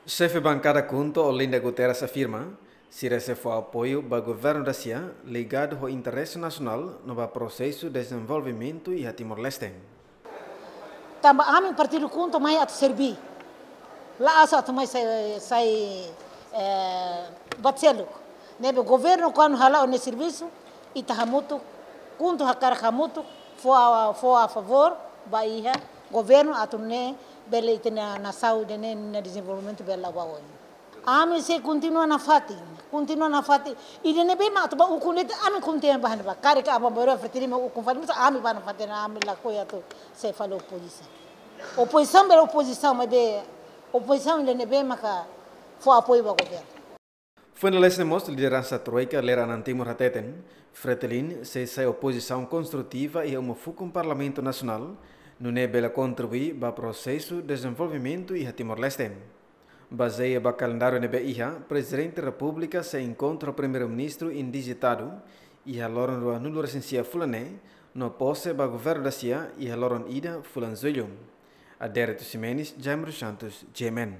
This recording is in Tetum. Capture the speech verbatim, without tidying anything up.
Xefe Bankada KHUNTO, Olinda Guterres, afirma sira sei fó apoiu ba governu da-sia ligadu ho interese nasionál no ba prosesu dezenvolvimentu iha Timor-Leste. Tanba ami partidu KHUNTO mai atu serbí. La'ós atu mai sai, sai, eh, buat seluk. Ne'ebé governu kuandu hala'o nia servisu, ita hamutuk, KHUNTO hakarak hamutuk, fó a, fó a favór ba iha governu atu nune'e bele ita-nia nasaun ida-ne'e nia dezenvolvimentu bele la'o ba oin. Ami sei kontinua nafatin, kontinua nafatin. Ida ne'ebé mak atu bá ukun de'it, ami kontinua bá ne'ebá. Karik Aban-Bainrua Fretilin mak ukun fali, mas ami bá nafatin, ami lakohi atu sai fali opozisaun. Opozisaun bele opozisaun, maibé opozisaun ida ne'ebé maka fó apoiu ba governu. Foin dala haat ne'e mós, lideransa Troika Lere-Anan Timur hateten, Fretilin sei sai opozisaun konstrutiva iha uma fukun Parlamentu Nasionál, nune'e bele kontribui ba prosesu dezenvolvimentu iha Timor-Leste. Bazeia ba kalendáriu ne'ebé iha, Prezidente Repúblika sei enkontru ho Primeiru-Ministru indijitadu iha loron ruanulu-resin-sia fulan ne'e, no pose ba governu da-sia iha loron ida fulan Jullu. Adérito Ximenes, Jaime dos Santos, G M N.